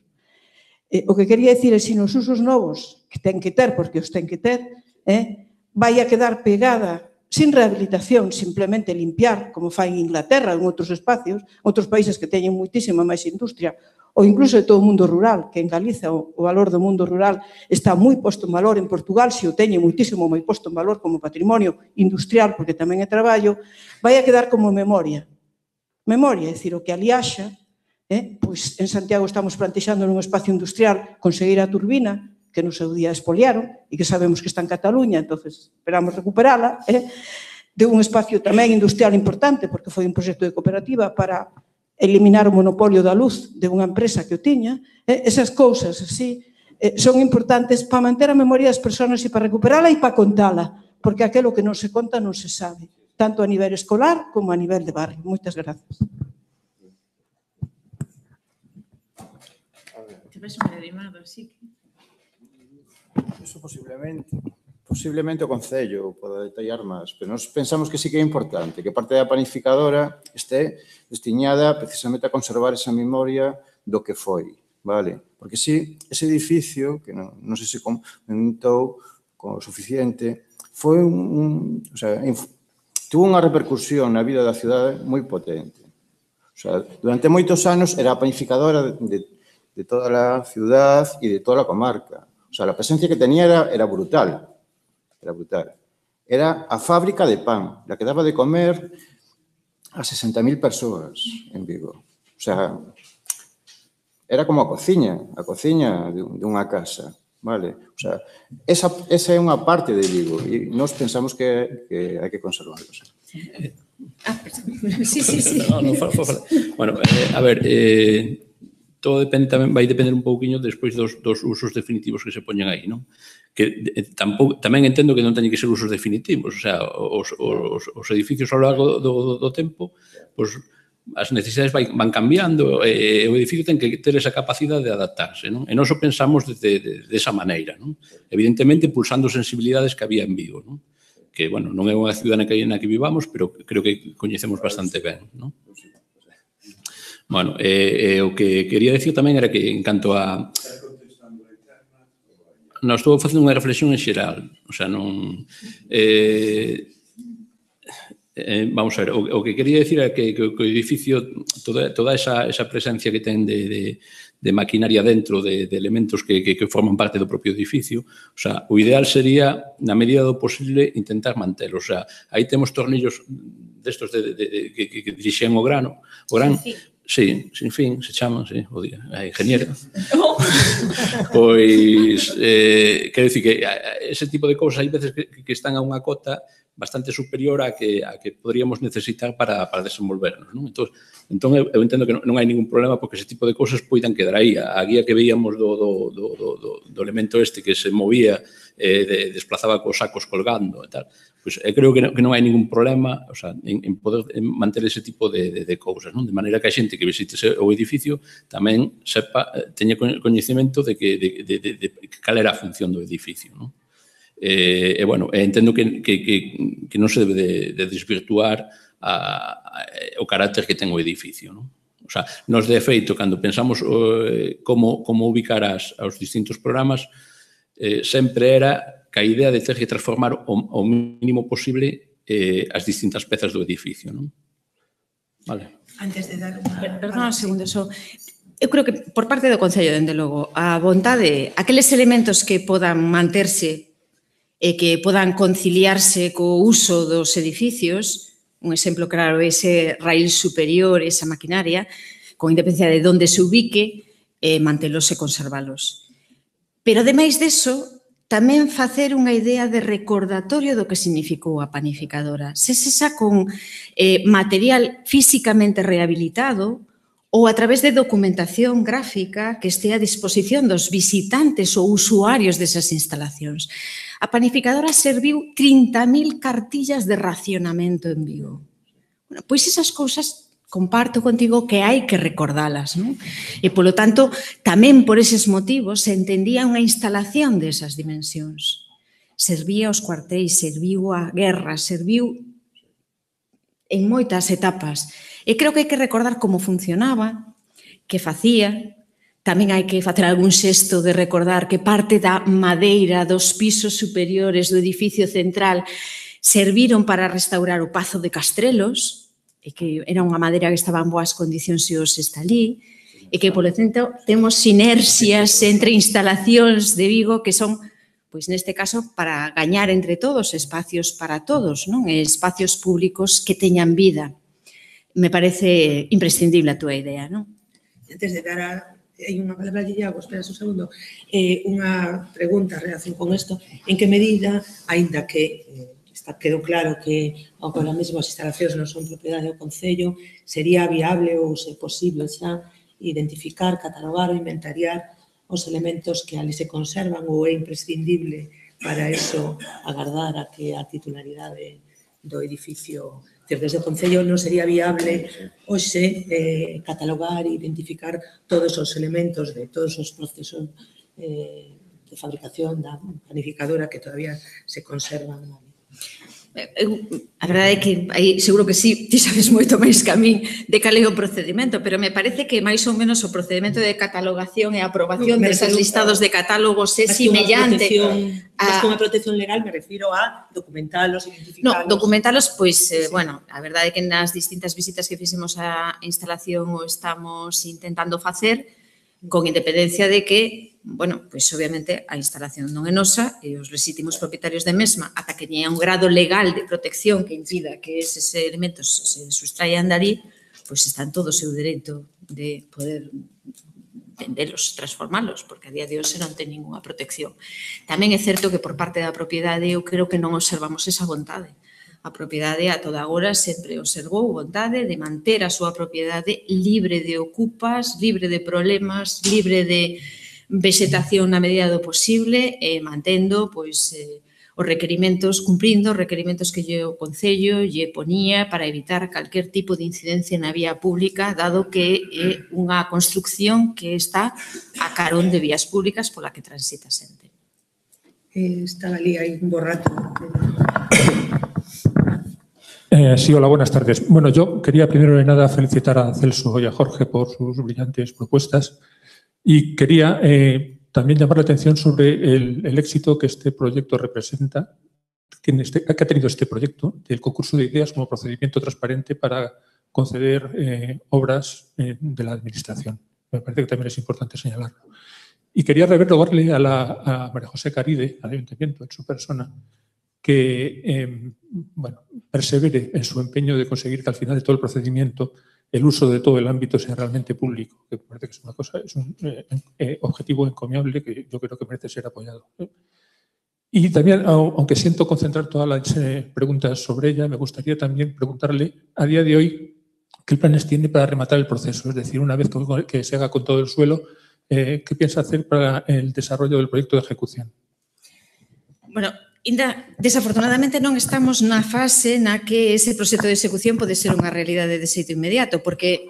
S8: O que quería dicir é que, se nos usos novos, que ten que ter, porque os ten que ter, vai a quedar pegada, sin rehabilitación, simplemente limpiar, como fai en Inglaterra, en outros espacios, outros países que teñen moitísima máis industria, ou incluso de todo o mundo rural, que en Galiza o valor do mundo rural está moi posto en valor, en Portugal se o teñe moitísimo moi posto en valor como patrimonio industrial, porque tamén é traballo, vai a quedar como memoria. Memoria, é dicir, o que ali haxa, pois en Santiago estamos plantexando nun espacio industrial conseguir a turbina, que no seu día expoliaron, e que sabemos que está en Cataluña, entonces esperamos recuperala, de un espacio tamén industrial importante, porque foi un proxecto de cooperativa para eliminar o monopolio da luz de unha empresa que o tiña. Esas cousas así son importantes para manter a memoria das persoas e para recuperala e para contala, porque aquilo que non se conta non se sabe, tanto a nivel escolar como a nivel de barrio. Moitas grazas.
S3: Te ves moi animado, así que...
S6: Eso posiblemente o Concello poda detallar máis, pero nós pensamos que sí que é importante que parte da planificadora este destiñada precisamente a conservar esa memoria do que foi, vale? Porque si ese edificio, que non sei se comentou con o suficiente, foi tuvo unha repercusión na vida da cidade moi potente. Durante moitos anos era a planificadora de toda a ciudad e de toda a comarca. A presencia que tenía era brutal. Era brutal. Era a fábrica de pan, la que daba de comer a 60.000 persoas en Vigo. Era como a cociña dunha casa, vale? Esa é unha parte de Vigo e nós pensamos que hai que conservarlo.
S3: Sí.
S7: Bueno, a ver, todo depende tamén, vai depender un pouquiño despois dos usos definitivos que se poñen aí, non? Que tamén entendo que non teñen que ser usos definitivos, os edificios ao largo do tempo, as necesidades van cambiando e o edificio ten que ter esa capacidade de adaptarse, non? E nós o pensamos desa maneira, non? Evidentemente, pulsando sensibilidades que había en Vigo, non? Que, bueno, non é unha cidade na que vivamos, pero creo que coñecemos bastante ben, non? Bueno, o que quería decir tamén era que en canto a... Non, estou facendo unha reflexión en xeral, non... Vamos a ver, o que quería decir é que o edificio, toda esa presencia que ten de maquinaria dentro, de elementos que forman parte do propio edificio, o ideal sería, na medida do posible, intentar mantelo. Aí temos tornillos destos que dirixen o gran, sí, sin fin, se chaman, sí, o día, a ingeniera. Pois, quero dicir que ese tipo de cousas, hai veces que están a unha cota bastante superior a que poderíamos necesitar para desenvolvernos, non? Entón, eu entendo que non hai ningún problema porque ese tipo de cousas poidan quedar aí. A guía que veíamos do elemento este que se movía, desplazaba cos sacos colgando e tal, pois creo que non hai ningún problema, o sea, en poder manter ese tipo de cousas, non? De maneira que a xente que visite o edificio tamén sepa, teña coñecemento de cal era a función do edificio, non? Bueno, entendo que non se debe de desvirtuar o carácter que ten o edificio, non? O sea, nos de efeito, cando pensamos como ubicar aos distintos programas, sempre era que a idea de ter que transformar o mínimo posible as distintas pezas do edificio, non? Vale.
S1: Antes de dar unha...
S3: Perdón un segundo, só. Eu creo que por parte do Concello, dende logo, a vontade, aqueles elementos que podan manterse e que podan conciliarse co uso dos edificios, un exemplo claro, ese raíl superior, esa maquinaria, con independencia de onde se ubique, mantelos e conservalos. Pero, ademais deso, tamén facer unha idea de recordatorio do que significou a panificadora. Se xa con material físicamente rehabilitado ou a través de documentación gráfica que este a disposición dos visitantes ou usuarios desas instalacións. A panificadora serviu 30.000 cartillas de racionamento en Vigo. Bueno, pois esas cousas comparto contigo que hai que recordalas, non? E, polo tanto, tamén por eses motivos se entendía unha instalación desas dimensións. Servía aos cuartéis, serviu a guerra, serviu en moitas etapas. E creo que hai que recordar como funcionaba, que facía. Tamén hai que facer algún xesto de recordar que parte da madeira dos pisos superiores do edificio central serviron para restaurar o Pazo de Castrelos, e que era unha madeira que estaba en boas condicións e hoxe está ali, e que, polo tanto, temos sinerxias entre instalacións de Vigo que son, pois neste caso, para gañar entre todos, espacios para todos, non? E espacios públicos que teñan vida. Me parece imprescindible a túa idea, non?
S1: Antes de dar a... Hai unha palabra de Iago, espera un segundo. Unha pregunta en relación con isto. En que medida, aínda que quedou claro que agora mesmo as instalacións non son propiedade do Concello, sería viable ou se posible xa identificar, catalogar ou inventariar os elementos que ali se conservan ou é imprescindible para eso agardar a que a titularidade do edificio desde o Concello non sería viable hoxe catalogar e identificar todos os elementos de todos os procesos de fabricación da planificadora que todavía se conservan.
S3: A verdade é que aí seguro que sí, ti sabes moito máis que a min de cal é o procedimento, pero me parece que máis ou menos o procedimento de catalogación e aprobación desas listados de catálogos é semellante.
S1: Mas con a protección legal me refiro a documentalos, identificalos.
S3: No, documentalos, pois, bueno, a verdade é que nas distintas visitas que fixemos á instalación o estamos intentando facer, con independencia de que, bueno, pois obviamente a instalación non é nosa e os lexítimos propietarios de mesma, ata que teña un grado legal de protección que impida que eses elementos se sustraian dali, pois están todo o seu dereito de poder vendelos, transformalos, porque a día de hoxe non ten ninguna protección. Tamén é certo que por parte da propiedade eu creo que non observamos esa vontade. A propiedade a toda hora sempre observou vontade de manter a súa propiedade libre de ocupas, libre de problemas, libre de vegetación na medida do posible e mantendo pois os requerimentos, cumprindo os requerimentos que o Concello lle ponía para evitar calquer tipo de incidencia na vía pública, dado que é unha construcción que está a carón de vías públicas pola que transita xente.
S1: Estaba ali, hai un borrato.
S9: Sí, hola, buenas tardes. Bueno, yo quería primero de nada felicitar a Celso y a Jorge por sus brillantes propuestas y quería también llamar la atención sobre el éxito que este proyecto representa, que ha tenido este proyecto del concurso de ideas como procedimiento transparente para conceder obras de la Administración. Me parece que también es importante señalarlo. Y quería rogarle a María José Caride, al Ayuntamiento, en su persona, que bueno, persevere en su empeño de conseguir que al final de todo el procedimiento el uso de todo el ámbito sea realmente público, que me parece que es una cosa, es un objetivo encomiable que yo creo que merece ser apoyado. Y también, aunque siento concentrar todas las preguntas sobre ella, me gustaría también preguntarle a día de hoy qué planes tiene para rematar el proceso. Es decir, una vez que se haga con todo el suelo, ¿qué piensa hacer para el desarrollo del proyecto de ejecución?
S3: Bueno, ainda, desafortunadamente non estamos na fase na que ese proxecto de execución pode ser unha realidade de xeito inmediato, porque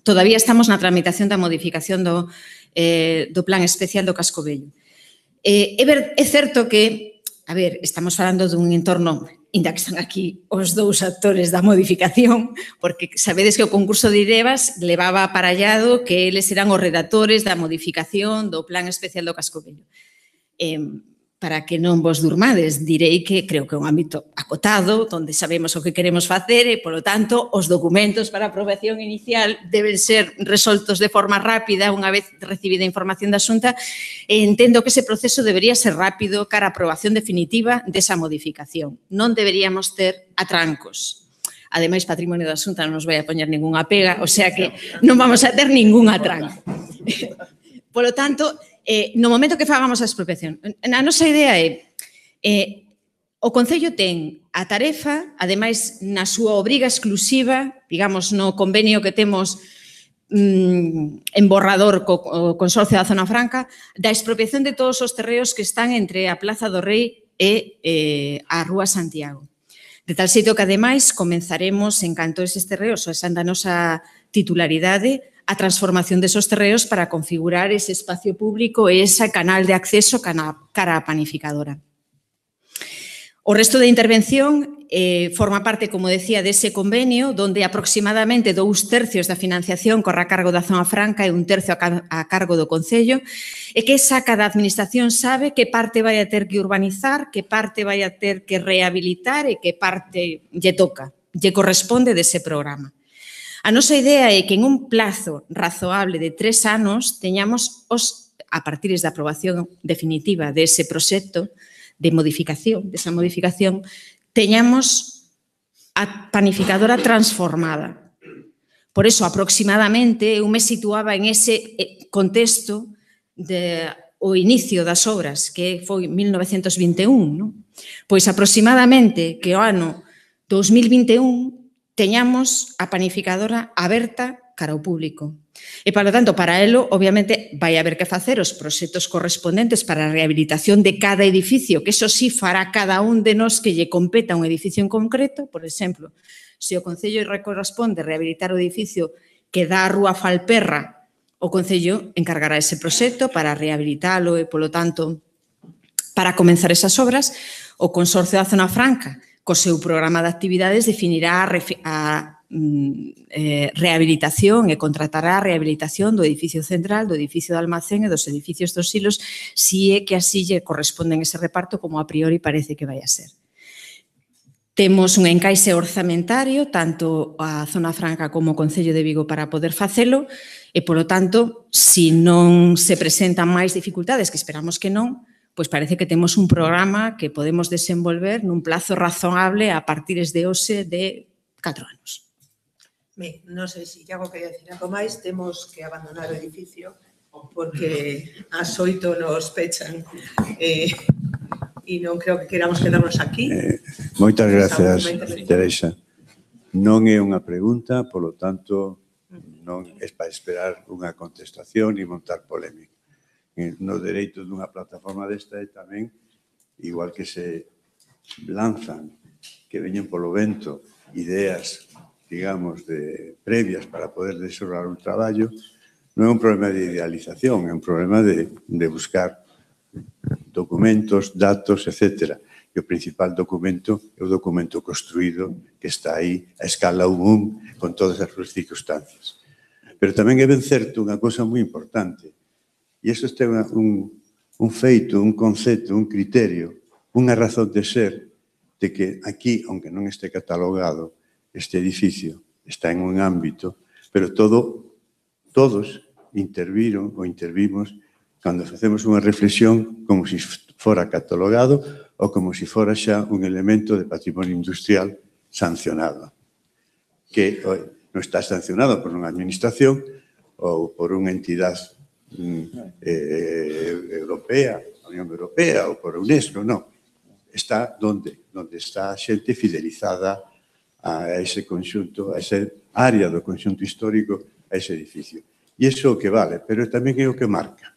S3: todavía estamos na tramitación da modificación do plan especial do Casco Vello. É certo que, a ver, estamos falando dun entorno, ainda que están aquí os dous actores da modificación, porque sabedes que o concurso de IREVAS levaba aparallado que eles eran os redactores da modificación do plan especial do Casco Vello. Para que non vos durmades, direi que creo que é un ámbito acotado, onde sabemos o que queremos facer e, polo tanto, os documentos para a aprobación inicial deben ser resoltos de forma rápida unha vez recibida a información da Xunta e entendo que ese proceso debería ser rápido cara a aprobación definitiva desa modificación. Non deberíamos ter atrancos. Ademais, Patrimonio da Xunta non nos vai a poñer ningunha pega, o sea que non vamos a ter ningún atranco. Polo tanto, no momento que fagamos a expropiación, a nosa idea é o Concello ten a tarefa, ademais na súa obriga exclusiva, digamos no convenio que temos en borrador co Consorcio da Zona Franca, da expropiación de todos os terreos que están entre a Plaza do Rei e a Rúa Santiago. De tal xeito que, ademais, comenzaremos, en canto eses terreos ou esa da nosa titularidade, a transformación desos terreos para configurar ese espacio público e ese canal de acceso cara á panificadora. O resto da intervención forma parte, como decía, dese convenio donde aproximadamente 2/3 da financiación corre a cargo da Zona Franca e 1/3 a cargo do Concello e que cada administración sabe que parte vai a ter que urbanizar, que parte vai a ter que rehabilitar e que parte lle toca, lle corresponde dese programa. A nosa idea é que en un plazo razoable de 3 anos teñamos, a partir da aprobación definitiva dese proxecto de modificación, desa modificación, teñamos a panificadora transformada. Por eso, aproximadamente, eu me situaba en ese contexto o inicio das obras, que foi 1921, pois aproximadamente que o ano 2021 teñamos a panificadora aberta cara ao público. E, polo tanto, para elo, obviamente, vai haber que facer os proxectos correspondentes para a rehabilitación de cada edificio, que eso sí fará cada un de nós que lle competa un edificio en concreto. Por exemplo, se o Concello corresponde rehabilitar o edificio que dá a Rúa Falperra, o Concello encargará ese proxecto para rehabilitalo e, polo tanto, para comenzar esas obras, o Consorcio da Zona Franca, co seu programa de actividades, definirá a rehabilitación e contratará a rehabilitación do edificio central, do edificio de almacén e dos edificios dos silos, si é que así lle corresponden ese reparto como a priori parece que vai a ser. Temos un encaixe orzamentario, tanto a Zona Franca como o Concello de Vigo para poder facelo e, polo tanto, se non se presentan máis dificultades, que esperamos que non, pois parece que temos un programa que podemos desenvolver nun plazo razonable a partir de hoxe de 4 anos.
S1: Ben, non sei se Iago quería decir algo máis, temos que abandonar o edificio porque ás 8 nos pechan e non creo que queramos quedarnos aquí.
S5: Moitas gracias, Teresa. Non é unha pregunta, polo tanto, non é para esperar unha contestación e montar polémica. No dereito dunha plataforma desta é tamén, igual que se lanzan, que veñen polo vento, ideas, digamos, previas para poder desarrollar un traballo, non é un problema de idealización, é un problema de buscar documentos, datos, etc. E o principal documento é o documento construído que está aí a escala 1 con todas as súas circunstancias. Pero tamén é ben certo unha cosa moi importante. E iso ten un feito, un concepto, un criterio, unha razón de ser de que aquí, aunque non este catalogado, este edificio está en un ámbito, pero todos interviron ou intervimos cando facemos unha reflexión como se fora catalogado ou como se fora xa un elemento de patrimonio industrial sancionado, que non está sancionado por unha administración ou por unha entidade europea, a Unión Europea ou por UNESCO, non. está onde está a xente fidelizada a ese conxunto, a esa área do conxunto histórico, a ese edificio. E iso é o que vale, pero tamén é o que marca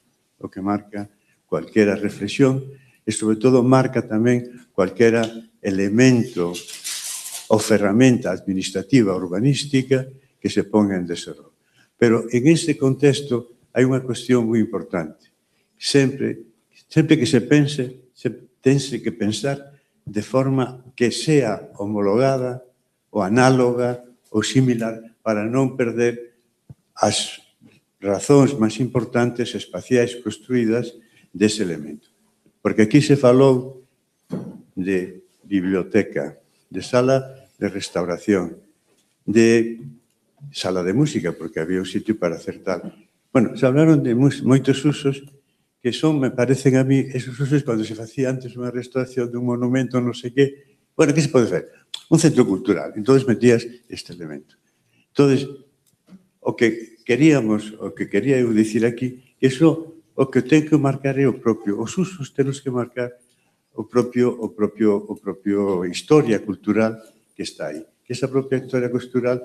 S5: cualquera reflexión e, sobre todo, marca tamén cualquera elemento ou ferramenta administrativa urbanística que se ponga en deserro. Pero en este contexto hai unha cuestión moi importante. Sempre que se pense, tense que pensar de forma que sea homologada ou análoga ou similar para non perder as razóns máis importantes espaciais construídas dese elemento. Porque aquí se falou de biblioteca, de sala de restauración, de sala de música, porque había un sitio para hacer tal. Bueno, se hablaron de moitos usos que son, me parecen a mí, esos usos cando se facía antes unha restauración dun monumento, non sei que. Bueno, que se pode facer? Un centro cultural. Entón metías este elemento. Entón, o que quería eu dicir aquí, iso o que ten que marcar é o propio, os usos temos que marcar o propio historia cultural que está aí. Que esa propia historia cultural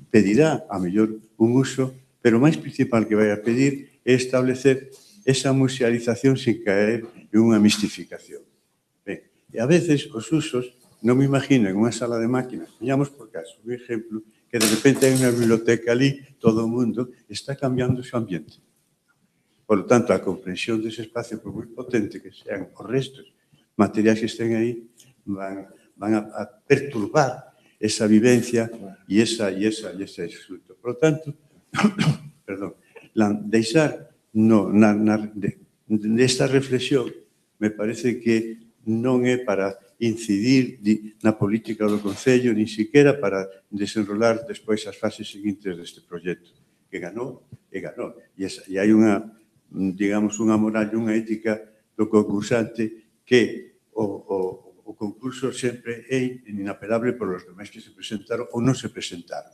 S5: pedirá, a mellor, un uso, pero o máis principal que vai a pedir é establecer esa musealización sin caer en unha mistificación. Ben, e a veces os usos, non me imagino en unha sala de máquinas, poñamos por caso, un exemplo, que de repente hai unha biblioteca ali, todo o mundo está cambiando o seu ambiente. Por lo tanto, a comprensión dese espacio, por moi potente que sean os restos materiais que estén aí, van a perturbar esa vivencia e ese disfruto. Por lo tanto, perdón, deixar nesta reflexión me parece que non é para incidir na política do Concello, nin siquiera para desenrolar despois as fases seguintes deste proxecto. Que ganou, e ganou. E hai unha, digamos, unha moral e unha ética do concursante que o concurso sempre é inapelable por os demais que se presentaron ou non se presentaron.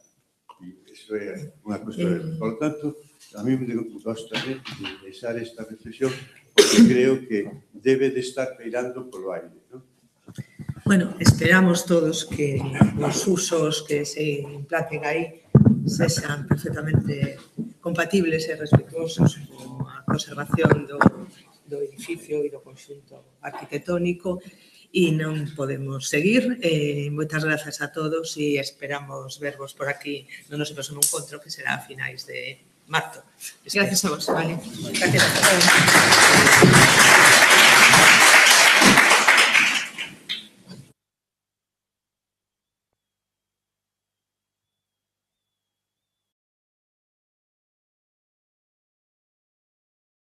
S5: E iso é unha cuestión. Por lo tanto, a mí me gosta de deixar esta reflexión porque creo que debe de estar peirando polo aire, non?
S1: Bueno, esperamos todos que os usos que se implanten aí sexan perfectamente compatibles e respetuosos coa conservación do edificio e do conxunto arquitectónico e non podemos seguir. Moitas grazas a todos e esperamos vervos por aquí no noso próximo encontro que será a finais de marzo.
S10: Gracias a vos.
S1: Vale. Gracias a todos.